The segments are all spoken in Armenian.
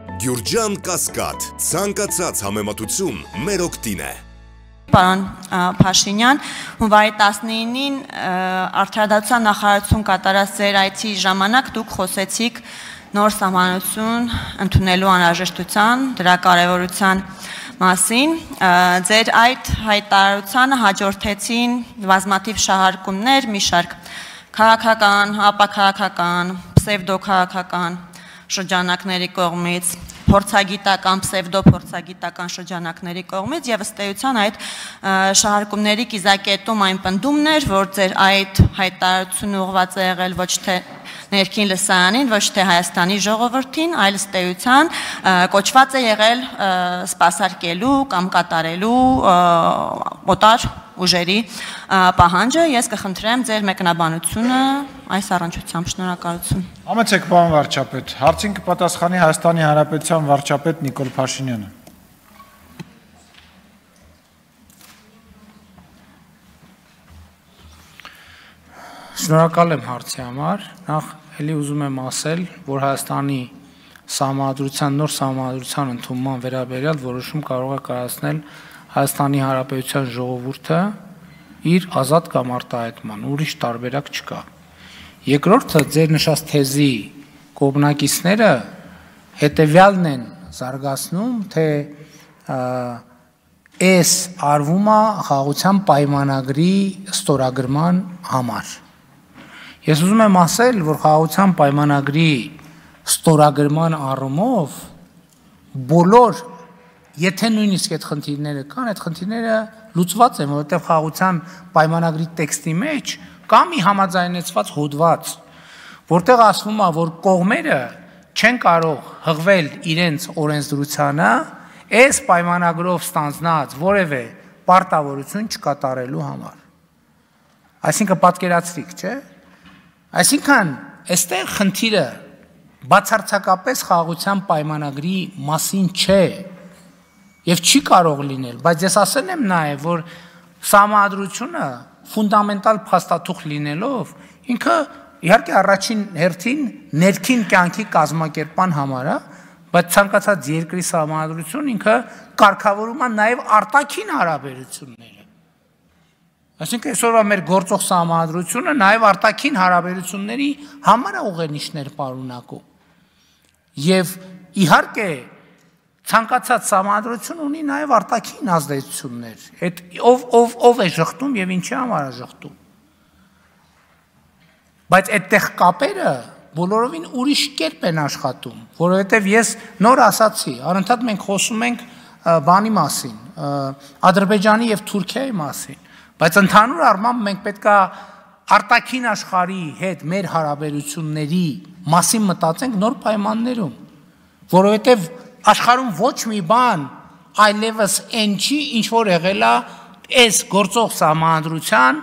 Գյուրջան Կասկադ, ցանկացած համեմատություն մեր օգտին է։ Պարոն Փաշինյան, հունվարի 19-ին Արդարադատության նախարարություն կատարած ձեր այցի ժամանակ դուք խոսեցիք նոր սահմանություն ընդունելու անհրաժեշտության, դրա կարևորության մասին, ձեր այդ հայտարարությանը հաջորդեցին բազմաթիվ շահարկումներ, մի շարք քաղաքական, ապաքաղաքական, պսևդոքաղաքական շրջանակների կողմից, փորձագիտական, պսևդոփորձագիտական շրջանակների կողմից եւ ըստ էության այդ շահարկումների կիզակետում այն պնդումն էր, որ ձեր այդ հայտարարությունը ուղղված է եղել ոչ թե ներքին լսարանին, ոչ թե Հայաստանի ժողովրդին, այլ ըստ էության կոչված է եղել սպասարկելու կամ կատարելու օտար ուժերի պահանջը, ես կխնդրեմ ձեր մեկնաբանությունը այս առնչությամբ, շնորհակալություն։ Համեցեք, պարոն վարչապետ, հարցին կպատասխանի Հայաստանի Հանրապետության վարչապետ Նիկոլ Փաշինյանը։ Շնորհակալ եմ հարցի համար, նախ էլի ուզում եմ ասել, որ Հայաստանի սահմանադրության, նոր սահմանադրության ընդունման վերաբերյալ որոշում կարող է կայացնել Հայաստանի Հանրապետության ժողովուրդը իր ազատ կամ արտահայտման, ուրիշ տարբերակ չկա։ Երկրորդը, ձեր նշած թեզի կողմնակիցները հետևյալն են զարգացնում, թե այս արվում է խաղաղության պայմանագրի ստորագրման համար։ Ես ուզում եմ ասել, որ խաղաղության պայմանագրի ստորագրման առումով բոլոր, եթե նույնիսկ այդ խնդիրները կան, այդ խնդիրները լուծված են, որովհետև խաղաղության պայմանագրի տեքստի մեջ կա մի համաձայնեցված հոդված, որտեղ ասվում է, որ կողմերը չեն կարող հղվել իրենց օրենսդրությանը այս պայմանագրով ստանձնած որևէ պարտավորություն չկատարելու համար։ Այսինքն պատկերացրիք, չէ՞։ Այսինքն, այստեղ խնդիրը բացարձակապես խաղաղության պայմանագրի մասին չէ եւ չի կարող լինել, բայց ես ասել եմ նաեւ, որ սահմանադրությունը ֆունդամենտալ փաստաթուղթ լինելով, ինքը իհարկե առաջին հերթին ներքին կյանքի կազմակերպման համար է, բայց ցանկացած երկրի սահմանադրություն ինքը կարգավորում է նաեւ արտաքին հարաբերությունները։ Այսինքն այսօրվա մեր գործող սահմանադրությունը նաև արտաքին հարաբերությունների համար է ուղենիշներ պարունակում։ Եվ իհարկե ցանկացած սահմանադրություն ունի նաև արտաքին ազդեցություններ։ Այդ ով է ժխտում եւ ինչի համար է ժխտում։ Բայց այդտեղ կապերը բոլորովին ուրիշ կերպ են աշխատում, որովհետեւ ես նոր ասացի, անընդհատ մենք խոսում ենք բանի մասին, Ադրբեջանի եւ Թուրքիայի մասին, բայց ընդհանուր առմամբ մենք պետք է արտաքին աշխարհի հետ մեր հարաբերությունների մասին մտածենք նոր պայմաններում, որովհետև աշխարհում ոչ մի բան այլևս այն չի, ինչ որ եղել է այս գործող սահմանադրության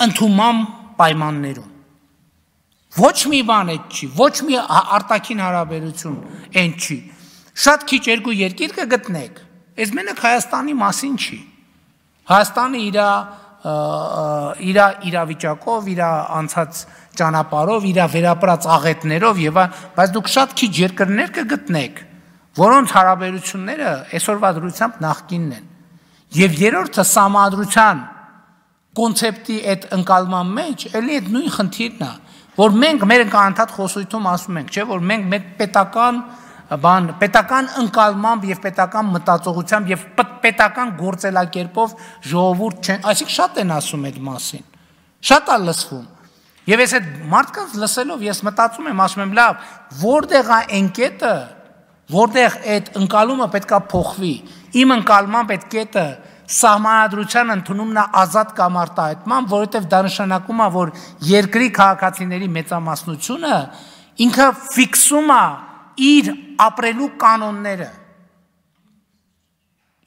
ընդունման պայմաններում։ Ոչ մի բան այդ չի, ոչ մի արտաքին հարաբերություն այն չի։ Շատ քիչ երկու երկիր կգտնեք, այս մենակ Հայաստանի մասին չի։ Հայաստանը իր իրավիճակով, իր անցած ճանապարհով, իր վերապրած աղետներով եւ բայց դուք շատ քիչ երկրներ կգտնեք, որոնց հարաբերությունները այսօրվա դրությամբ նախկինն են։ Եվ երրորդը սահմանադրության կոնցեպտի այդ ընկալման մեջ էլի այդ նույն խնդիրն է, որ մենք մեր անդադ խոսույթում ասում ենք, չէ, որ մենք մեր պետական ընկալմամբ եւ պետական մտածողությամբ եւ պետական գործելակերպով ժողովուրդ չեն, այսինքն շատ են ասում այդ մասին, շատ է լսվում։ Եվ ես այդ մարդկանց լսելով ես մտածում եմ, ասում եմ, լավ, որտեղ է այն կետը, որտեղ այդ ընկալումը պետքա փոխվի։ Իմ ընկալմամբ այդ կետը սահմանադրության ընդունումն է ազատ կամ արտահայտման, որովհետև դա նշանակում է, որ երկրի քաղաքացիների մեծամասնությունը ինքը ֆիքսում է իր ապրելու կանոնները։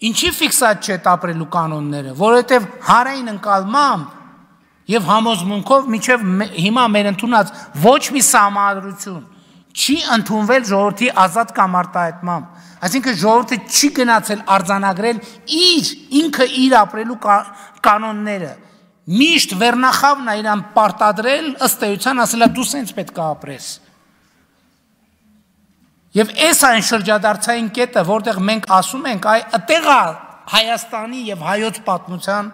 Ինչի ֆիքսած չէ այդ ապրելու կանոնները, որովհետև հանրային ընկալմամբ եւ համոզմունքով մինչեւ հիմա մեր ընդունած ոչ մի սահմանադրություն չի ընդունվել ժողովրդի ազատ կամ արտահայտմամբ։ Այսինքն ժողովուրդը չի գնացել արձանագրել ինքը իր ապրելու կանոնները։ Միշտ վերնախավն է իրան պարտադրել ըստ էության ասելա դու սենց պետք է ապրես։ Եվ այս այն շրջադարձային կետը, որտեղ մենք ասում ենք, այդտեղ է Հայաստանի եւ հայոց պատմության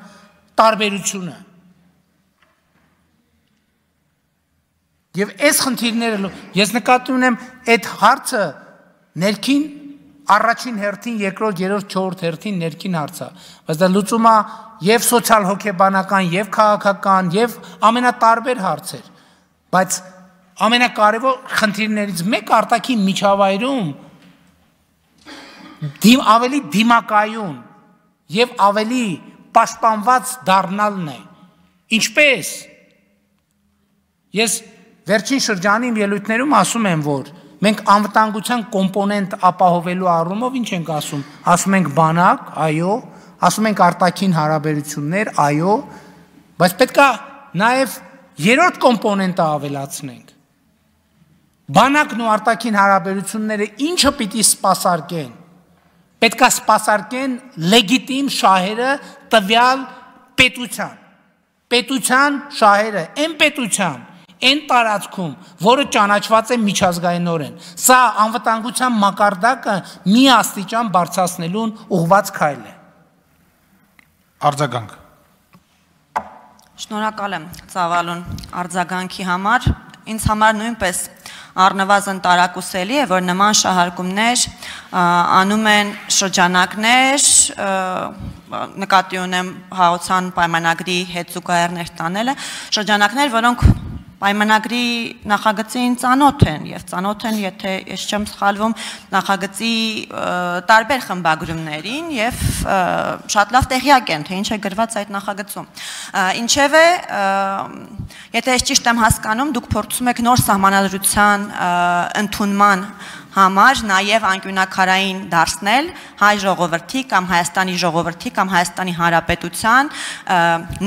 տարբերությունը։ Եվ այս խնդիրները ես նկատի ունեմ այդ հարցը ներքին առաջին հերթին, երկրորդ, երրորդ, չորրորդ հերթին ներքին հարց է, բայց դա լուծում է եւ սոցիալ հոգեբանական, եւ քաղաքական, եւ ամենատարբեր հարցեր, բայց ամենակարևոր խնդիրներից մեկը արտաքին միջավայրում ավելի դիմակայուն եւ ավելի պաշտպանված դառնալն է։ Ինչպես ես վերջին շրջանի ելույթներում ասում եմ, որ մենք անվտանգության կոմպոնենտ ապահովելու առումով ինչ ենք ասում։ Ասում ենք բանակ, այո, ասում ենք արտաքին հարաբերություններ, այո, բայց պետք է նաև երրորդ կոմպոնենտը ավելացնենք։ Բանակն ու արտաքին հարաբերությունները ինչը պիտի սպասարկեն։ Պետք է սպասարկեն լեգիտիմ շահերը տվյալ պետության։ Պետության շահերը, այն պետության, այն տարածքում, որը ճանաչված է միջազգայինորեն։ Սա անվտանգության մակարդակը մի աստիճան բարձրացնելուն ուղղված քայլ է։ Արձագանք։ Շնորհակալ եմ Ծավալուն արձագանքի համար։ Ինձ համար նույնպես առնվազն տարակուսելի է, որ նման շահարկումներ անում են շրջանակներ, նկատի ունեմ հաղորդման պայմանագրի հետ զուգահեռներ տանելը, շրջանակներ, որոնք պայմանագրի նախագծին ծանոթ են եւ ծանոթ են, եթե ես չեմ սխալվում, նախագծի տարբեր խմբագրումներին եւ շատ լավ տեղյակ են, թե ինչ է գրված այդ նախագծում։ Ինչևէ, եթե ես ճիշտ եմ հասկանում, դուք փորձում եք նոր սահմանադրության ընդունման համար նաև անկյունակարային դարձնել հայ ժողովրդի կամ Հայաստանի ժողովրդի կամ Հայաստանի Հանրապետության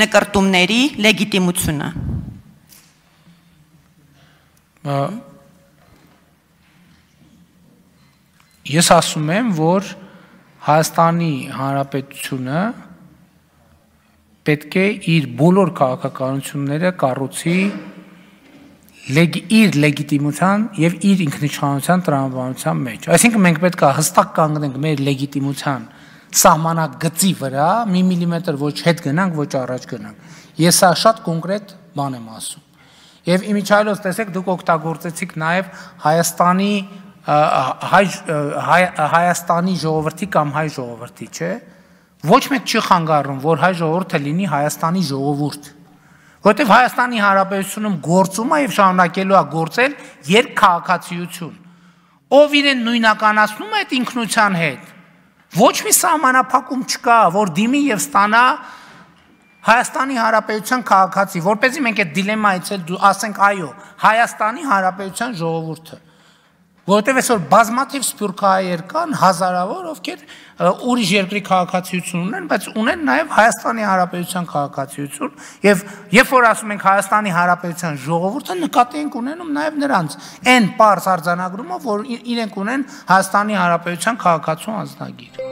նկրտումների լեգիտիմությունը։ Ես ասում եմ, որ Հայաստանի Հանրապետությունը պետք է իր բոլոր քաղաքականությունները կառուցի իր լեգիտիմության եւ իր ինքնիշխանության տրամաբանության մեջ։ Այսինքն մենք պետք է հստակ կանգնենք մեր լեգիտիմության սահմանագծի վրա, մի միլիմետր ոչ հետ գնանք, ոչ առաջ գնանք։ Ես սա շատ կոնկրետ բան եմ ասում։ Եվ իմիջիայլոց տեսեք, դուք օգտագործեցիք նաև Հայաստանի ժողովրդի կամ հայ ժողովրդի, չէ՞։ Ոչ մեկ չի խանգարում, որ հայ ժողովուրդը լինի Հայաստանի ժողովուրդ, որտեղ Հայաստանի Հանրապետությունում գործում է եւ շարունակելու է գործել երկքաղաքացիություն, ով իրեն նույնականացնում է այդ ինքնության հետ։ Ոչ մի սահմանափակում չկա, որ դիմի եւ ստանա Հայաստանի Հանրապետության քաղաքացի, որպեսզի մենք այդ դիլեմայից էլ ասենք այո, Հայաստանի Հանրապետության ժողովուրդը, որովհետև այսօր բազմաթիվ սփյուռքահայեր կան, հազարավոր, ովքեր ուրիշ երկրի քաղաքացիություն ունեն, բայց ունեն նաև Հայաստանի Հանրապետության քաղաքացիություն, եւ երբ որ ասում ենք Հայաստանի Հանրապետության ժողովուրդը, նկատի ենք ունենում նաև նրանց այն պարզ արձանագրումով, որ իրենք ունեն Հայաստանի Հանրապետության քաղաքացու անձնագիր։